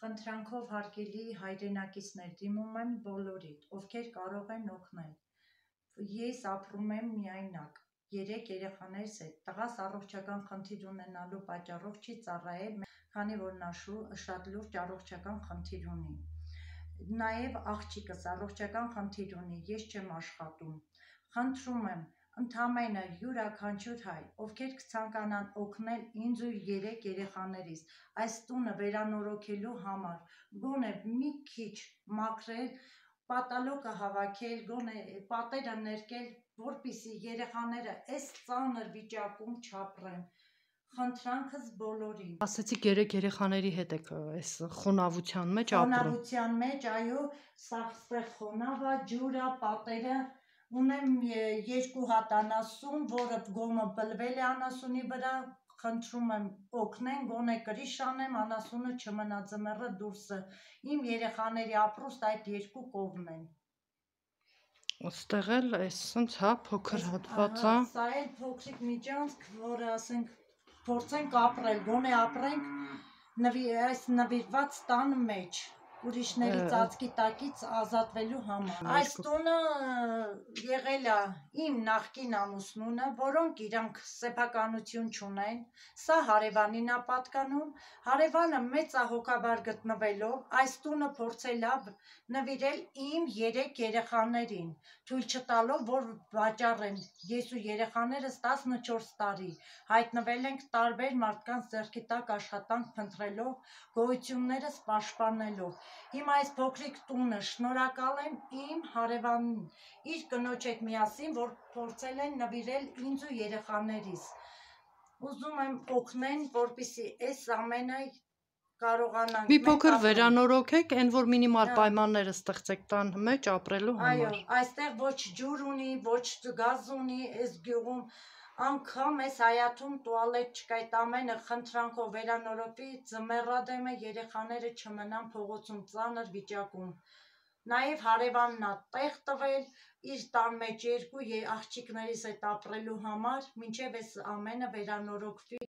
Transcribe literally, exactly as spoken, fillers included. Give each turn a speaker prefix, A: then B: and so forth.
A: Խնդրանքով հարգելի հայրենակիցներ, դիմում եմ բոլորիդ, ովքեր կարող են օգնել։ Ես ապրում եմ միայնակ, երեք երեխաներս հետ, տղաս առողջական խնդիր ունենալու պատճառով չի ծառայել, քանի որ նա շատ լուրջ առողջական խնդիր ունի։ Նաև աղջիկս առողջական խնդիր ունի, ես չեմ աշխատում։ Խնդրում եմ, ընդամենը յուրաքանչյուր հայ, ովքեր կցանկանան օգնել ինձ ու երեք երեխաներիս այս տունը վերանորոգելու համար, գոնե մի քիչ մաքրել, պատալոկը հավաքել, գոնե պատերը ներկել, որպեսզի երեխաները այս ծանր վիճակում չապրեն։ Խնդրանքս բոլորին։
B: Ասացիք երեք երեխաների հետ եք այս խոնավության մեջ ապրում։
A: Խոնավության մեջ, այո, սաղ խոնավ է, ջուր է, պատերը։ Ունեմ երկու հատ անասուն, որը գոմը բլվել է անասունի վրա, խնդրում եմ օգնեն, գոնե կրիշ անեմ, անասունը չմնա ձմեռը դուրսը։ Իմ երեխաների ապրուստ այդ երկու կողմն են։
B: Այստեղ էլ այսինչ հա փոքր հատված է։
A: Սա էլ փոքրիկ միջանցք, որը ասենք փորձենք ապրել, գոնե ապրենք այս նվիրված տան մեջ, ուրիշների ծածկի տակից ազատվելու համար։ Այս տունը եղել է իմ նախկին ամուսնունը, որոնք իրանք սեփականություն չունեն, սա հարևանին է պատկանում, հարևանը մեծահոգաբար գտնվելով, այս տունը փորձել է նվիրել իմ երեք երեխաներին, թույլ չտալով, որ վաճառեն։ Ես ու երեխաներս տասնչորս տարի հայտնվել ենք տարբեր մարդկանց ձեռքի տակ աշխատանք փնտրելով, գոյություններս պաշտպանելով։ Հիմա այս փոքրիկ տունը շնորհակալ եմ իմ հարևանին, իր կնոջ հետ միասին, որ փորձել են նվիրել ինձ ու երեխաներիս։ Ուզում եմ օգնեն, որպեսզի այս ամենը կարողանանք։
B: Մի փոքր վերանորոգեք, այն որ մինիմալ պայմանները ստեղծեք տան մեջ ապրելու համար։
A: Այո, այստեղ ոչ ջուր ունի, ոչ գազ ունի, այս գյուղում անգամ այս հայաթում տուալետ չկա, այդ ամենը խնդրանքով վերանորոգվի, ձմեռադեմ է, երեխաները չմնան փողոցում ծանր վիճակում։ Նաև հարևանն է տեղ տվել իր տան մեջ երկու աղջիկներիս հետ ապրելու համար, մինչև այս ամենը վերանորոգվի։